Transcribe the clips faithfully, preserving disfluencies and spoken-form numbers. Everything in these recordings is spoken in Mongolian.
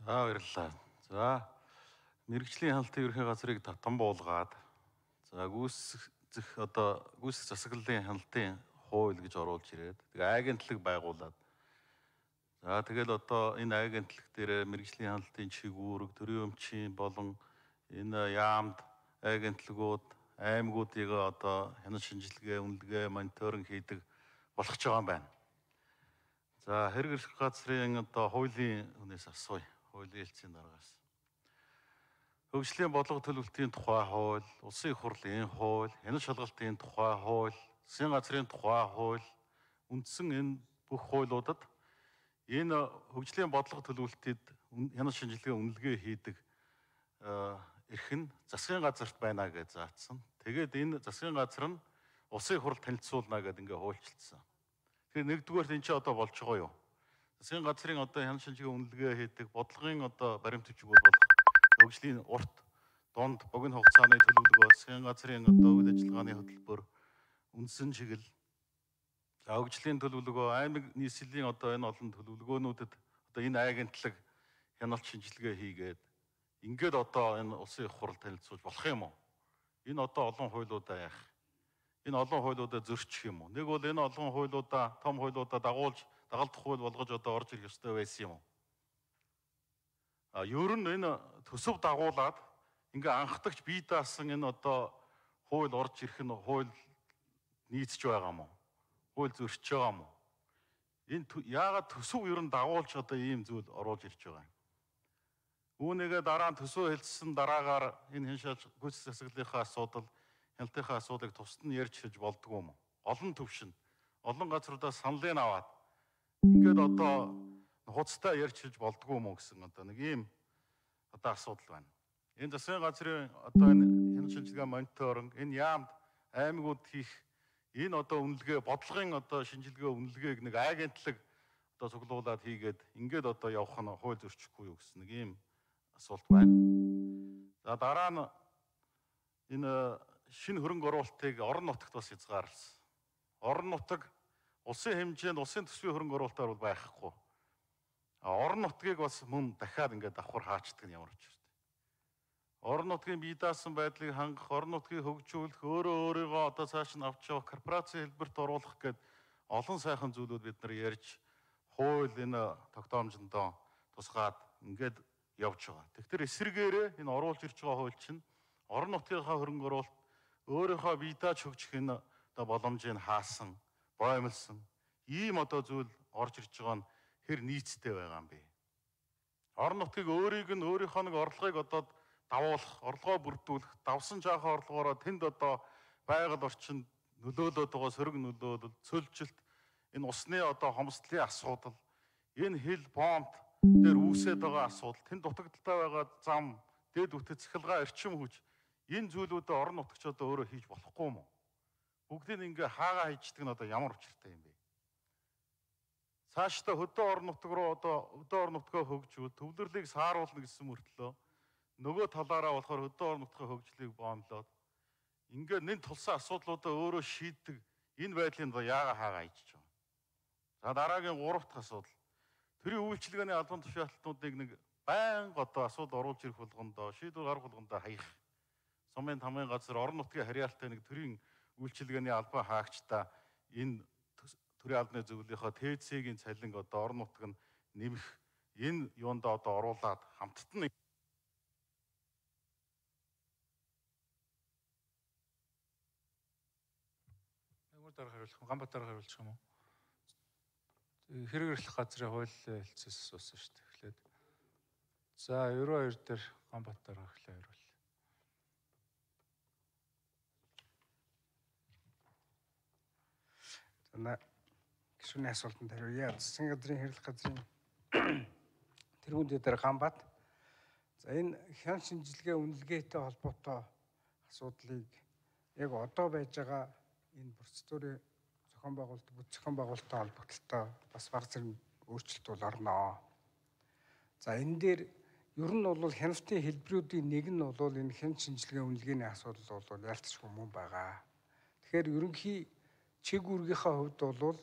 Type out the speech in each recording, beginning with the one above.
За баярлалаа. За мэрэгжлийн хяналтын ерхий газрыг татан буулгаад за гүйцэх одоо гүйцэх засаглалын хяналтын хууль гэж оруулж ирээд тэгээ агентлаг байгуулад за тэгэл одоо энэ агентлаг дээр мэрэгжлийн хяналтын чигүүрэг, төрийн өмчийн болон энэ яамд агентлагууд аймагуудыг одоо хяналт шинжилгээ, үнэлгээ, мониторинг хийдэг болох ч байгаа юм байна. За хэрэг эрх газрын одоо хуулийн хүнээс асууя. Хуулийн хэлцээний дараагаас. Хөгжлийн бодлого төлөвлөлтийн тухай хууль, улсын их хурлын хууль, хяналт шалгалтын тухай хууль, засгийн газрын тухай хууль, үндсэн энэ бүх хуулиудад энэ хөгжлийн бодлого төлөвлөлтөд хяналт шинжилгээ үнэлгээ хийдэг эрх нь засгийн газарт байна гэж заасан. Тэгээд энэ засгийн газар нь улсын их хурлд танилцуулна гэдэг ингээ хуульчилсан. Тэгэхээр нэгдүгээр энэ ч одоо болж байгаа юу? Засгийн газрын одоо хяналт шинжилгээ үнэлгээ хийдэг бодлогын одоо баримт бичиг бол хөгжлийн урт донд богино хугацааны төлөвлөгөө, засгийн газрын одоо үйл ажиллагааны хөтөлбөр, үндсэн чиглэл, хөгжлийн төлөвлөгөө, аймаг нийслэлийн одоо энэ олон төлөвлөгөөнүүдэд одоо энэ агентлаг хяналт шинжилгээ хийгээд ингээд одоо энэ улсын их хурл танилцуулж болох юм уу? Энэ одоо олон хуулиудаа яах? Энэ олон хуулиудаа зөрчих юм уу? Нэг бол энэ олон хуулиудаа, том хуулиудаа дагуулж, дагалдах хууль болгож одоо орж ирэх ёстой байсан юм уу? А ер нь энэ төсөв дагуулад ингээ анхдагч бие даасан энэ одоо хууль орж ирэх нь хууль нийцж байгаа юм уу? Хууль зөрчиж байгаа юм уу? Энэ яагаад төсөв ер нь дагуулж одоо ийм зүйл оруулж ирж байгаа юм? Үүнийгээ дараа нь төсөө хэлсэн дараагаар энэ хяншааж гүйцэтгэх засаглалынхаа асуудал, хяналтынхаа асуудлыг тусад нь ярьж хэлж болдгоо юм уу? Олон төвшин, олон газруудаас саналын аваад ингээд одоо хуцтай ярьж хэлж болдгоо юм уу гэсэн одоо нэг ийм одоо асуудал байна. Энэ засгийн газрын одоо энэ хяналт шинжилгээ мониторинг, энэ яамд аймагуд хийх энэ одоо үнэлгээ, бодлогын одоо шинжилгээ үнэлгээг нэг агентлаг одоо цуглуулад хийгээд ингээд одоо явах нь хууль зөрчихгүй юу гэсэн нэг ийм асуулт байна. За дараа нь энэ шинэ хөрөнгө оруулалтыг орон нутагт бас хязгаарласан. Орон нутаг улсын хэмжээнд улсын төсвийн хөрөнгө оруулалтаар бол байхгүй. А орон нутгийг бас мөн дахиад ингээд давхар хаачдаг нь ямар ч юм. Орон нутгийн бие даасан байдлыг хангах, орон нутгийг хөгжүүлэх, өөрөө өөрийгөө одоо цааш нь авч явах, корпорацийн хэлбэрт оруулах гэд олон сайхан зүйлүүд бид нар ярьж хууль энэ тогтоомжондоо тусгаад ингээд явж байгаа. Тэгэхээр эсрэгээрээ энэ оруулж ирж байгаа хууль чинь орон нутгийнхаа хөрөнгө оруулалт өөрийнхөө бие дааж хөгжих энэ одоо боломжийг хаасан, боомлсон ийм одоо зүйл орж ирж байгаа нь хэр нийцтэй байгаа юм бэ? Орон нутгийг өөрийг нь өөрийнхөө нэг орлогыг одоо давуулах, орлогоо бүрдүүлэх, давсан жаахан орлогоороо тэнд одоо байгаль орчинд нөлөөлөд байгаа сөрөг нөлөөлөл, цөлжилт, энэ усны одоо хомсдлын асуудал, энэ хил бомб дээр үүсээд байгаа асуудал, тэнд дутагдaltaй байгаа зам, дэд үтэ цахилгаан эрчим хүч, энэ зүйлүүдээ орон нутагч одоо өөрөө хийж болохгүй юм уу? Бүгдийг ингээ хаагаа хийждэг нь одоо ямар учиртай юм бэ? Цаашдаа хөдөө орон нутаг руу одоо хөдөө орон нутгаа хөгжүүл, төвлөрлийг сааруулна гэсэн мөртлөө нөгөө талаараа болохоор хөдөө орон нутгийн хөгжлийг боомлоод ингээд нэн тулсан асуудлуудаа өөрөө шийддэг энэ байдлыг яага хаагаа хийж байгаа. За дараагийн гурав дахь асуудал. Төрийн үйлчилгээний албан тушаалтнуудыг нэг байнга одоо асуудал оруулж ирэх болгондоо, шийдвэр гаргах болгондоо хаях. Сумын тамгын газар орон нутгийн харьяалтай нэг төрийн үйлчилгээний албан хаагчдаа энэ төрийн албаны зөвлөлийнхөө ТЭЦ-ийн цалин одоо орон нутаг нь нэмэх энэ юундаа одоо оруулаад хамтд нь дараа хариулах, Ганбаатар хариулчих юм уу? Хэрэг эрх газрын хууль хэлцээс асуусан шүү дээ. Эхлээд. За, ерөө хоёр дээр Ганбаатар эхлээ хариул. За, гишүүний асуултанд хариуя. Засгийн газрын хэрэг газрын тэргүүн дээр Ганбаат. За, энэ хяналт шинжилгээ үнэлгээтэй холбоотой асуудлыг яг одоо байж байгаа энэ процедурын зохион байгуулалт, бүс зохион байгуулалттай холбогдлолтой бас баг зэрэг өөрчлөлт бол орноо. За энэ дээр ер нь бол хяналтын хэлбэрүүдийн нэг нь бол энэ хяналт шинжилгээ үнэлгээний асуудал бол ялцчихгүй мөн байгаа. Тэгэхээр ерөнхий чиг үүргийнхаа хувьд бол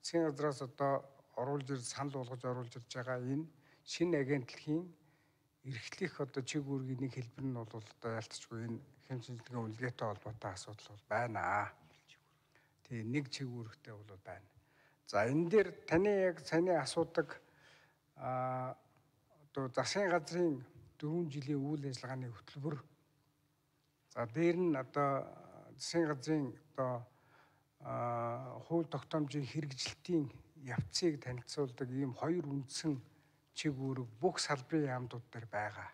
засгийн газраас одоо оруулж ир санал болгож оруулж ирж байгаа энэ шинэ агентлагийн эрхлэх одоо чиг үүргийн нэг хэлбэр нь бол одоо ялцчгүй энэ хэм шинжилгээ үнэлгээтэй холбоотой асуудал бол байна. Тэгээ нэг чиг үүрэгтэй бол байна. За энэ дээр таны яг саяны асуудаг а одоо засгийн газрын дөрвөн жилийн үйл ажиллагааны хөтөлбөр. За дээр нь одоо засгийн газрын одоо хууль тогтоомжийн хэрэгжилтийн явцыг танилцуулдаг ийм хоёр үндсэн чиг үүрэг бүх салбарын яамдууд дээр байгаа.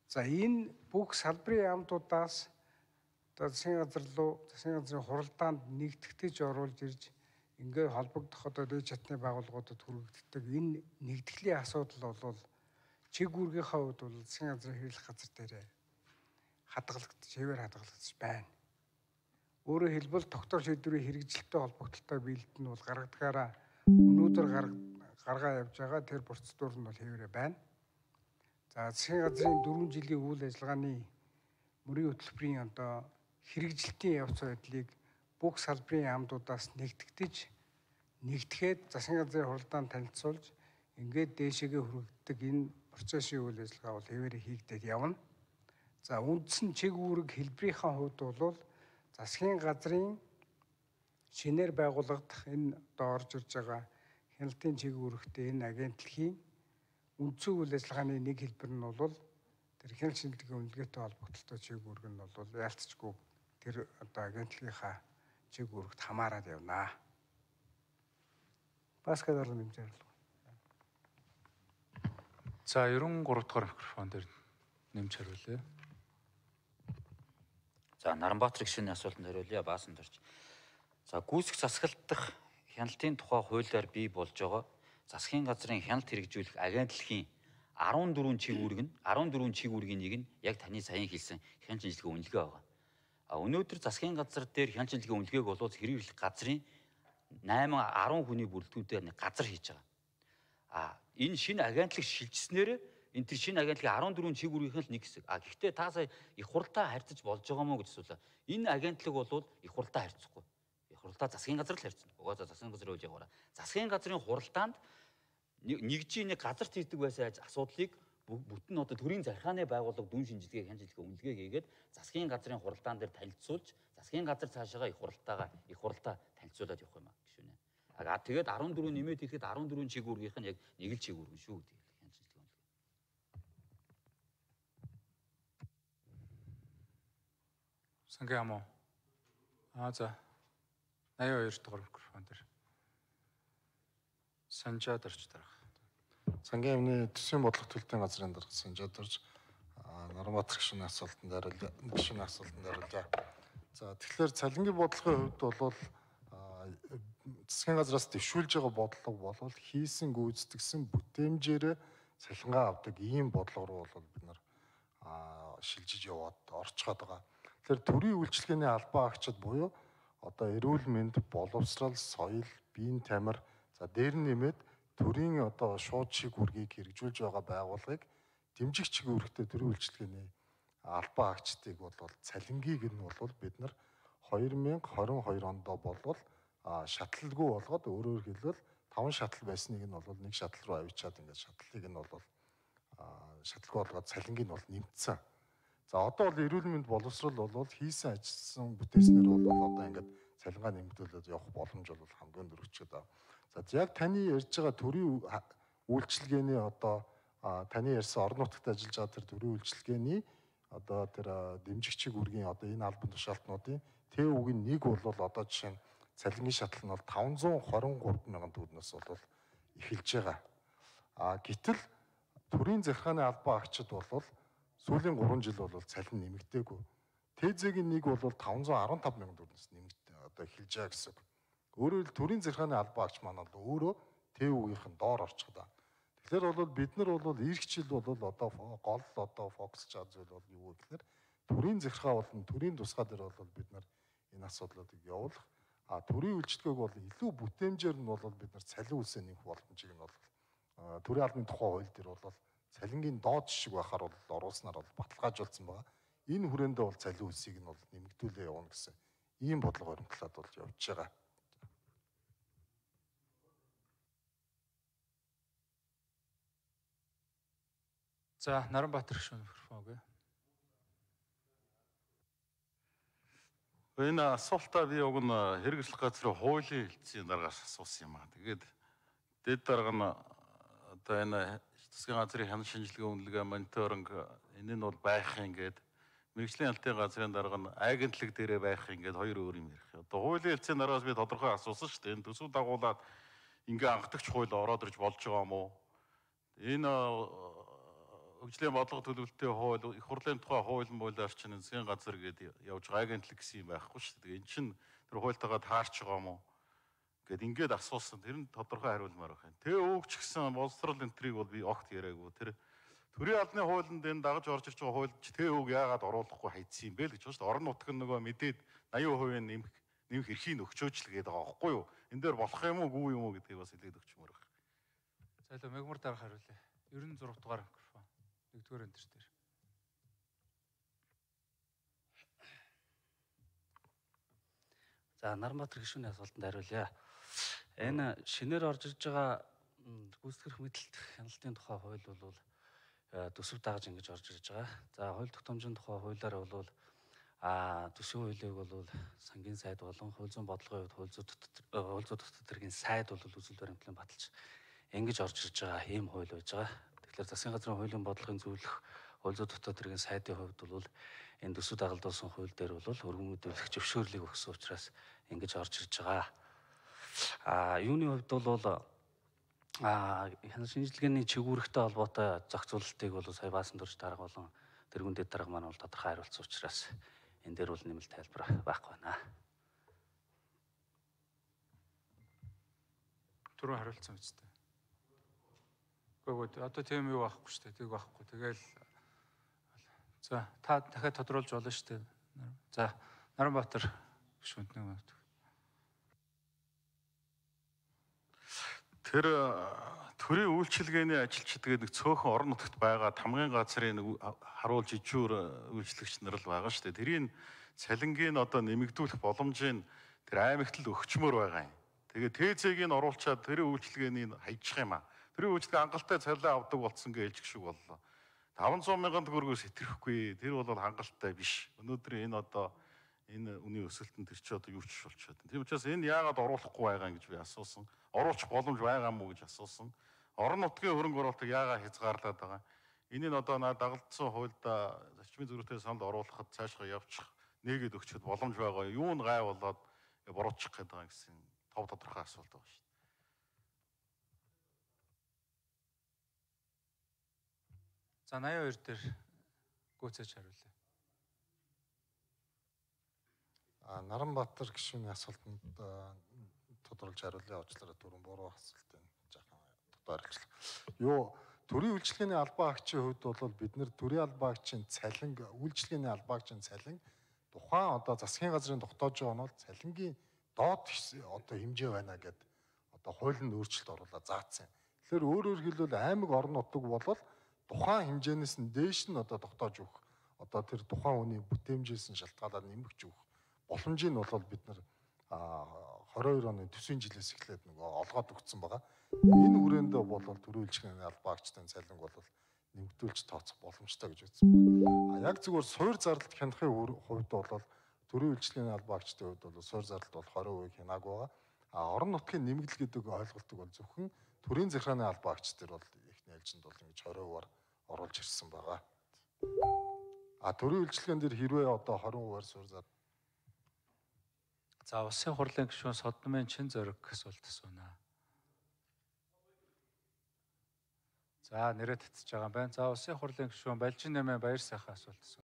За энэ бүх салбарын яамдуудаас одоо засгийн газар руу засгийн газрын хуралдаанд нэгтгэж оруулж ирж ингээд холбогдох одоо дэд чатны байгууллагуудад хүргэгддэг энэ нэгтгэлийн асуудал бол чиг үүргийнхаа хувьд бол засгийн газрын хэрэглэх газар дээр хадгалагдаж, хэвээр хадгалагдаж байна. Өөрөөр хэлбэл тогтоох шийдвэрийн хэрэгжилттэй холбогдлолтой биелэлт нь бол гаргадгаараа өнөөдөр гаргаа явж байгаа тэр процедур нь бол хэвээрээ байна. За засгийн газрын дөрвөн жилийн үйл ажиллагааны мөрийн хөтөлбөрийн одоо хэрэгжилтийн явц байдлыг бүх салбарын яамдуудаас нэгтгэж нэгтгэхэд засгийн газрын хуралдаанд танилцуулж ингээд дээшээгээ хүргэгддэг энэ процессын үйл ажиллагаа бол хэвээрээ хийгдээд явна. За үндсэн чиг үүрэг хэлбэрийнхаа хувьд бол засгийн газрын шинээр байгуулагдах энэ одоо орж ирж байгаа хяналтын чиг үүрэгтэй энэ агентлагийн үндсэн үйл ажиллагааны нэг хэлбэр нь бол тэр хяналт шинжилгээ үнэлгээтэй холбогдлолтой чиг үүрэг нь бол ялцчгүй тэр одоо агентлагийнхаа чиг үүрэгт хамаарат явна. Бас гадар нэмж яарлаа. За ерөн гурав дахь микрофон дээр нэмж хариулъя. За Наранбаатар гишүүний асуултанд хариулъя. Баасан дорж. За гүйцэх засаглалдах хяналтын тухай хуулиар бий болж байгаа засгийн газрын хяналт хэрэгжүүлэх агентлагийн арван дөрвөн чиг үүрэг нь арван дөрвөн чиг үүргийн нэг нь яг таны саяхан хэлсэн хяналт шинжилгээ үнэлгээ байгаа. А өнөөдөр засгийн газар дээр хяналт шинжилгээ үнэлгээг болоод хэрэглэх газрын найман арван хүний бүрэлдэхүүнтэй нэг газар хийж байгаа. А энэ шинэ агентлаг шилжснээр энэ тэр шинэ агентлагийн арван дөрвөн чиг үүргийнх нь нэг хэсэг. А гэхдээ та сая их хуралтай харьцаж болж байгаа мó гэж асуулаа. Энэ агентлаг бол их хуралтай харьцахгүй. Их хуралтай засгийн газар л харьцна. Угаасаа засгийн газрын үйл яваараа. Засгийн газрын хуралдаанд нэгжийн нэг газарт хийдэг байсан асуудлыг бүтэн одоо төрийн захиргааны байгууллага дүн шинжилгээ хяналт шинжилгээ үнэлгээ хийгээд засгийн газрын хуралдаан дээр танилцуулж засгийн газар цаашаага их хуралтайгаа их хуралтай танилцуулаад явах юм аа гişүнэ. А тэгээд арван дөрвөн нэмээд ирэхэд арван дөрвөн чиг үүргийнх нь яг нэг л чиг үүргэн шүү гэдэг хяналт шинжилгээ үнэлгээ. Сангийн ам уу? Аа за. найман хоёр дахь микрофон дээр. Санжаад орч дарах. Сангийн амны төсвийн бодлого төлөлтийн газрын дарга Санжаад орж Наранбаатар гишүүний асуултанд хариулъя. Гишүүний асуултанд хариулъя. За тэгэхээр цалингийн бодлогын хувьд бол засгийн газраас дэвшүүлж байгаа бодлого бол хийсэн гүйцэтгсэн бүтээмжээр цалингаа авдаг ийм бодлого руу бол бид нар шилжиж яваад орчход байгаа. Тэгэхээр төрийн үйлчилгээний албан агчид буюу одоо эрүүл мэнд, боловсрал, соёл, биеийн тамир за дээр нь нэмээд төрийн одоо шууд чиг үүргийг хэрэгжүүлж байгаа байгууллагыг дэмжих чиг үүрэгтэй төрийн үйлчилгээний албан агчдыг бол цалингийг нь бол бид нар хоёр мянга хорин хоёр онд болвол шатлалгүй болгоод өөрөөр хэлбэл таван шатал байсныг нь бол нэг шатал руу авчиад ингээд шатлалыг нь бол шатлалгүй болгоод цалингийг нь бол нэмэгдсэн. За одоо бол эрүүл мэнд боловсрал бол хийсэн ажилласан бүтээснээр бол одоо ингээд цалингаа нэмэгдүүлээд явах боломж бол хамгийн дөрөвчөд байна. За яг таны ярьж байгаа төрийн үйлчилгээний одоо таны ярьсан орон нутагт ажиллаж байгаа тэр төрийн үйлчилгээний одоо тэр дэмжих чиг үүргийн одоо энэ албан тушаалтнуудын тэв үгийн нэг бол одоо жишээ нь цалингийн шатлал нь бол таван зуун хорин гурав мянган төгрөгнөөс бол эхэлж байгаа. А гэтэл төрийн захиргааны албан агчид бол сүүлийн гурван жил бол цалин нэмэгдээгүй. Тэзэгийн нэг бол таван зуун арван тав мянган төгрөгнөөс нэмэгдээ одоо эхэлж байгаа гэсэн. Өөрөөр хэлбэл төрийн захиргааны албан агч маань бол өөрөө тэв үгийнхэн доор орчих даа. Тэгэхээр бол бид нар бол ирэх жил бол одоо гол одоо фокусж байгаа зүйл бол юу вэ гэхээр төрийн захиргаа болон төрийн тусгай дээр бол бид нар энэ асуудлуудыг явуулах. А төрийн үйлчлэгээг бол илүү бүтээмжээр нь бол бид нар цалин үлсээ нэмэх боломжийг нь бол төрийн албаны тухай хууль дээр бол цалингийн доод жишг байхаар бол оруулснаар бол баталгаажуулсан байгаа. Энэ хүрээндээ бол цалин үлсийг нь бол нэмэгдүүлээ явна гэсэн ийм бодлого баримтлаад бол явж байгаа. За Наранбаатар гишүүн микрофон өгье. Энэ асуултаа би уг нь хэрэгжлэх газрын хуулийн хэлтсийн дараагаас асуусан юм аа. Тэгээд дэд дарга нь одоо энэ засгийн газрын хяналт шинжилгээ үнэлгээ мониторинг энэ нь бол байх юм гээд мэргэжлийн хяналтын газрын дарга нь агентлаг дээрээ байх юм гээд хоёр өөр юм ярих. Одоо хуулийн хэлтсийн дараагаас би тодорхой асуусан шүү дээ. Энэ төсөв дагуулад ингээ анхдагч хууль ороод ирж болж байгаа юм уу? Энэ хөгжлийн бодлого төлөвлөлтийн хууль, их хурлын тухай хууль муулиар чинь засгийн газар гээд явж байгаа агентлаг гэсэн юм байхгүй шүү дээ. Энэ чинь тэр хуультайгаа таарч байгаа юм уу? Гэт ингээд асуусан. Тэр нь тодорхой хариулмаар байна. Тэ өвч гэсэн боловсрол энтрийг бол би огт яриаггүй. Тэр төрийн албаны хуулинд энэ дагаж орж ирж байгаа хуульд тэ өвг яагаад оруулахгүй хайцсан юм бэ л гэж байна шүү дээ. Орон нутг нь нөгөө мэдээд восемь хувийн нэмэх нэмэх эрхийг өгчөөж л гээд байгаа байхгүй юу? Энэ дээр болох юм уу, гүй юм уу гэдгийг бас хэлээд өгчмөр байна. За илүү мегмар дарга хариулъя. девяносто шесть дугаар микрофон. Нэгдүгээр энэ дээр. За Наранбаатар гишүүний асуултанд хариулъя. Энэ шинээр орж ирж байгаа гүйцэтгэх мэдээлэлт хяналтын тухай хууль бол төсөв дагаж ингэж орж ирж байгаа. За хууль тогтоомжийн тухай хуулиар бол а төсвийн хуулийг бол сангийн сайд болон хууль зүйн бодлогын хувьд хууль зүйн хууль зүйн дотоод хэргийн сайд бол үзэл баримтлан баталж ингэж орж ирж байгаа ийм хууль байж байгаа. Тэгэхээр засгийн газрын хуулийн бодлогын зөвлөх хууль зүйн дотоод хэргийн сайдын хувьд бол энэ төсөв дагалдуулсан хууль дээр бол өргөн мэдүүлэх зөвшөөрлийг өгсөн учраас ингэж орж ирж байгаа. А юуны хувьд бол а хяналт шинжилгээний чигүүрхтэй холбоотой зохицуулалтыг бол сая баасан дурж дарга болон тэргүүн дэд дарга маань бол тодорхой хариулсан учраас энэ дээр бол нэмэлт тайлбар байхгүй байна. Түрүү хариулсан биз дээ. Гэхдээ одоо тийм юу байхгүй шүү дээ. Тийг байхгүй. Тэгэл за та дахиад тодруулж болно шүү дээ. За Наранбаатар гишүүнд нэг минут. Тэр төрийн үйлчилгээний ажилчид гэдэг нэг цөөхөн орон нутагт байгаа тамгын газрын нэг харуулж ижүүр үйлчлэгч нар л байгаа шүү дээ. Тэрийн цалингийн одоо нэмэгдүүлэх боломжийн тэр аймагт л өгчмөр байгаа юм. Тэгээ ТЗ-г нь оруулчаад тэрийн үйлчилгээний хайчих юм аа. Тэрийн үйлчилгээ хангалттай цалин авдаг болсон гэж хэлж шиг боллоо. таван зуун мянган төгрөгөөс хэтрэхгүй. Тэр бол хангалттай биш. Өнөөдөр энэ одоо энэ үний өсөлтөнд тэр чи одоо юу ч болчиход. Тийм учраас энэ яагаад оруулахгүй байгаа гэж би асуусан. Оруулах боломж байгаа мó гэж асуусан. Орон нутгийн хөрөнгө оруулалтыг яагаад хязгаарлаад байгаа. Энийг одоо наа дагалдсан хуульда зарчмын зөрүүтэй санал оруулахад цаашгаа явчих нэгэд өгчөд боломж байгаа. Юу нь гай болоод буруутчих гээд байгаа гэсэн тов тодорхой асуулт байгаа шүү дээ. За восемьдесят two дээр гүйцээж хариулъя. А Наранбаатар гишүүний асуултанд тодорхойлж хариулъя. Уучлаарай түрүүн буруу асуултын жаахан тодорхойлж. Юу төрийн үйлчилгээний албан агчийн хувьд бол бид нэр төрийн албан агчийн цалин үйлчилгээний албан агчийн цалин тухайн одоо засгийн газрын тогтоож байгаа нь бол цалингийн доод одоо хэмжээ байна гэдэг одоо хуулийн өөрчлөлт оруулаад заасан юм. Тэгэхээр өөрөөр хэлбэл аймаг орон нутаг бол тухайн хэмжээнээс нь дээш нь одоо тогтоож өгөх одоо тэр тухайн хүний бүтээмжээс нь шалтгаалаад нэмэгч өгөх боломжийг нь бол бид нар двадцать two оны төсвийн жилээс эхлээд нөгөө олгоод өгсөн байгаа. Энэ хүрээнд бол төрийн үйлчилгээний албан агчдын цалинг бол нэмэгдүүлж тооцох боломжтой гэж үзсэн байна. А яг зүгээр суур зардалт хянахын хувьд бол төрийн үйлчилгээний албан агчдын хувьд бол суур зардалт бол twenty percent хянаагүй байгаа. А орон нутгийн нэмэгдэл гэдэг ойлголтыг бол зөвхөн төрийн захиргааны албан агч нар бол эхний ээлжинд бол ингэж twenty percent-аар оруулж ирсэн байгаа. А төрийн үйлчилгээнд дэр хэрвээ одоо twenty percent-аар суур зардал. За улсын хурлын гишүүн Содномын чин зориг асуулт асууна. За нэрээ татчих байгаа юм байна. За улсын хурлын гишүүн Балжин нэмээ баяр сайхан асуулт асууна.